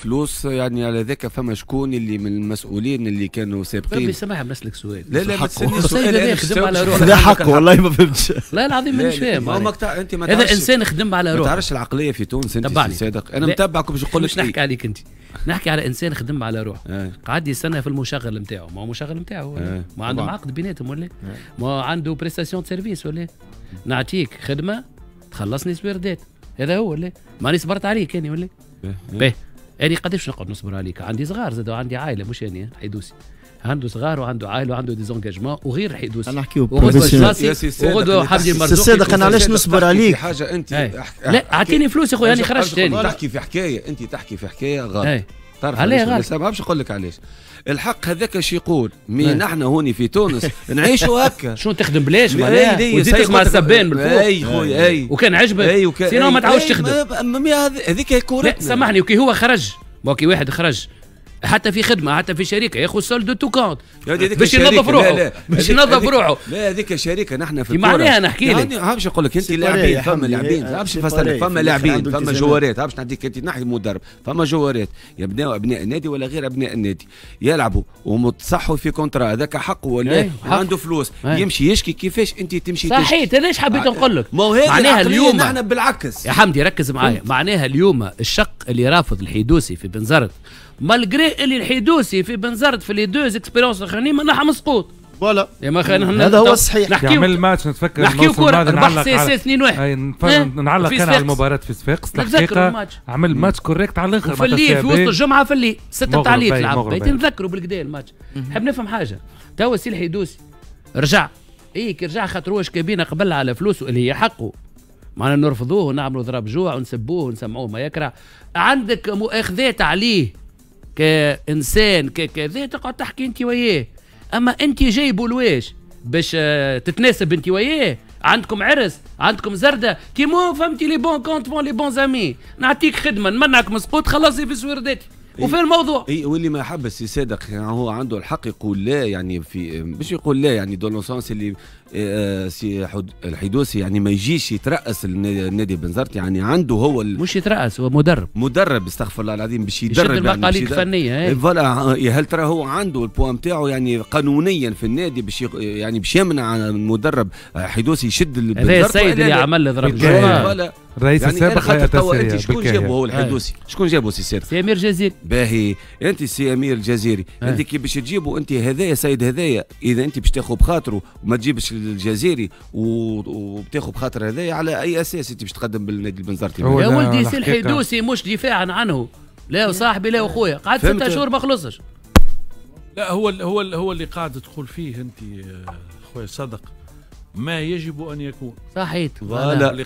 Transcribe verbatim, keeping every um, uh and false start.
فلوس يعني على ذاك فما شكون اللي من المسؤولين اللي كانوا سابقين. ربي سامحني نسالك سؤال. لا لا ما تسالنيش سؤال، خدم على روحه. لا حقه والله ما فهمتش. لا العظيم مانيش فاهم. ما انت ما هذا انسان خدم على روحه. ما تعرفش العقلية في تونس انت سي صادق. انا متبعك باش نقول لك. مش نحكي عليك انت، نحكي على انسان خدم على روحه. اه. قعد يستنى في المشغل نتاعو، ما هو مشغل نتاعو، اه. ما عنده عقد بيناتهم ولا ما عنده prestation service ولا نعطيك خدمة تخلصني سويردات، هذا هو ولا ماني صبرت عليك اني ولا باهي. أنا قداش نقعد نصبر عليك؟ عندي صغار زاد وعندي عائلة، مش أنا الحيدوسي عنده صغار وعنده عائلة وعنده des engagements وغير الحيدوسي. انا نحكيو professionnel وغدوه حمدي المرزوقي. صادق انا علاش نصبر عليك؟ حاجة انت لا اعطيني فلوس يا خويا، انا خرجت ثاني. تحكي في حكاية، انت تحكي في حكاية غلط. تعرف علاش غلط؟ ما باش نقول لك علاش. الحق هذاك اش يقول، mais نحن هوني في تونس نعيشوا هكا. شنو تخدم بلاش معناها وتزيد تسمع السبان من الفوق. اي خويا اي، وكان عجبك sinon ما تعاودش تخدم. هذيك كورتنا. لا سامحني، وكي هو خرج، ما كي واحد خرج حتى في خدمة حتى في شركة ياخذ solde de tout compte باش ينظف روحه، باش ينظف روحه. لا هذيك شركة نحن في الكورة معناها نحكي لك يعني باش نقول لك انت لاعبين، فما لاعبين باش نفسر، فما لاعبين فما جوارات، باش نعطيك انت نحكي مدرب، فما جوارات يبناو ابناء النادي ولا غير ابناء النادي يلعبوا ومتصحوا في contrat، هذاك حقه ولا عنده فلوس يمشي يشكي. كيفاش انت تمشي تشكي؟ صحيح، علاش حبيت نقول لك معناها اليوم نحن بالعكس يا حمدي ركز معايا. معناها اليوم الشق اللي رافض الحيدوسي في بنزرت، malgré اللي الحيدوسي في بنزرت في les deux expériences الاخرانيين منعها مسقوط. voilà هذا هو الصحيح. نحكيو الماتش نتفكر نحكيو كورة ربح سي سي اثنين واحد. نعلق كان على المباراة في صفاقس الحقيقة، عمل match correct على الاخر في الليل في وسط الجمعة في الليل ستة تاع الليل تلعب، نتذكروا بالكدا الماتش. نحب نفهم حاجة توا، سي الحيدوسي رجع، اي كي رجع خاطر هو كابينه قبل على فلوسه اللي هي حقه، معناها نرفضوه ونعملوا ضرب جوع ونسبوه ونسمعوه ما يكره. عندك مؤاخذات عليه كإنسان ككذا تقعد تحكي أنت وياه، أما أنت جايبه لواش باش تتناسب أنت وياه؟ عندكم عرس، عندكم زردة، كيما فهمتي les bons comptes font les bons amis، نعطيك خدمة نمنعك مسقوط خلصي في سويرداتي وفي الموضوع. اي واللي ما حب السي صادق يعني هو عنده الحق يقول لا، يعني في باش يقول لا يعني dans le sens اللي آه سي الحيدوسي يعني ما يجيش يترأس النادي بنزرت، يعني عنده هو مش يترأس، هو مدرب مدرب استغفر الله العظيم باش يدرب يعني المقاليد الفنية. voilà، هل ترى هو عنده ال poids نتاعو يعني قانونيا في النادي باش يعني باش يمنع المدرب حيدوسي يشد البنزرت؟ هذا السيد اللي عمل ضرب voilà الرئيس يعني السابق. خاطر انت شكون جابه هو الحيدوسي؟ شكون جابه سي صادق؟ سي امير الجزيري. باهي انت سي امير الجزيري، انت كي باش تجيبه انت هذايا سيد هذايا، اذا انت باش تاخذ بخاطره وما تجيبش الجزيري وبتاخذ بخاطر هذايا، على اي اساس انت باش تقدم بالنادي البنزرتي؟ يا ولدي سي الحيدوسي مش دفاعا عنه، لا صاحبي لا اخويا، قعد ستة شهور ما خلصش. لا هو هو هو اللي قاعد تقول فيه انت خويا صادق ما يجب ان يكون. صحيح. voilà.